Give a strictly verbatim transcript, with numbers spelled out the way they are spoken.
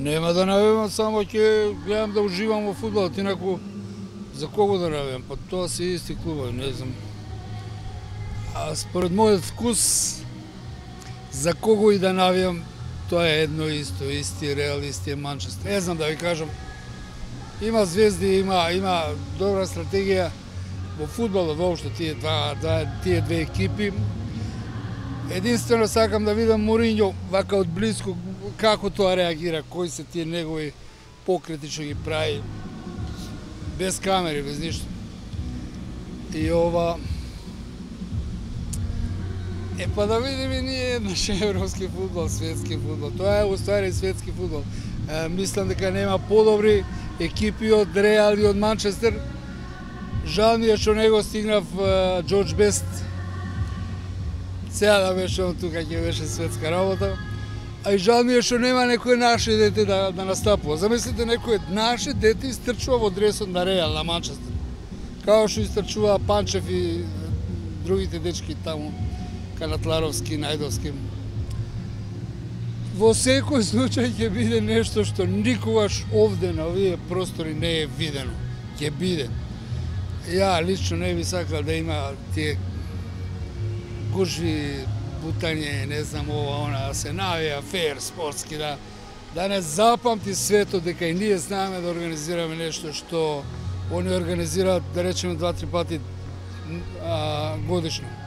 Нема да навивам, само ќе гледам да уживам во фудбалот, инаку за кого да навивам? Па тоа се исти клубови, не знам. А според мојот вкус, за кого и да навивам, тоа е едно исто, исти Реал, исти Манчестер. Не знам да ви кажам, има звезди, има има добра стратегија во фудбалот воопшто тие два, два тие две екипи. Единствено сакам да видам Моринјо вака од близко како тоа реагира, кои се тие негови покрети што ги прави без камери, без ништо. И ова Е, па да видиме ние еднаш европски фудбал, светски фудбал. Тоа е уствари светски фудбал. Е, мислам дека нема подобри екипи од Реал и од Манчестер. Жал ми е што него стигнав Џорџ Бест. Сега да беше он тука, ќе беше светска работа. А и жал ми е што нема некој наше дете да, да настапува. Замислите, некој наше дете истрчува во дресот на Реал, на Манчестер. Као што истрчува Панчев и другите дечки таму. Канатларовски, Најдовски. Во секој случај ќе биде нешто што никогаш овде на овие простори не е видено. Ќе биде. Ја лично не би сакал да има тие гужви, бутање, не знам ова, она, да се навија фер, спортски, да, да не запамти светот дека и ние знаеме да организираме нешто што они организираат, да речеме, два-три пати а, годишно.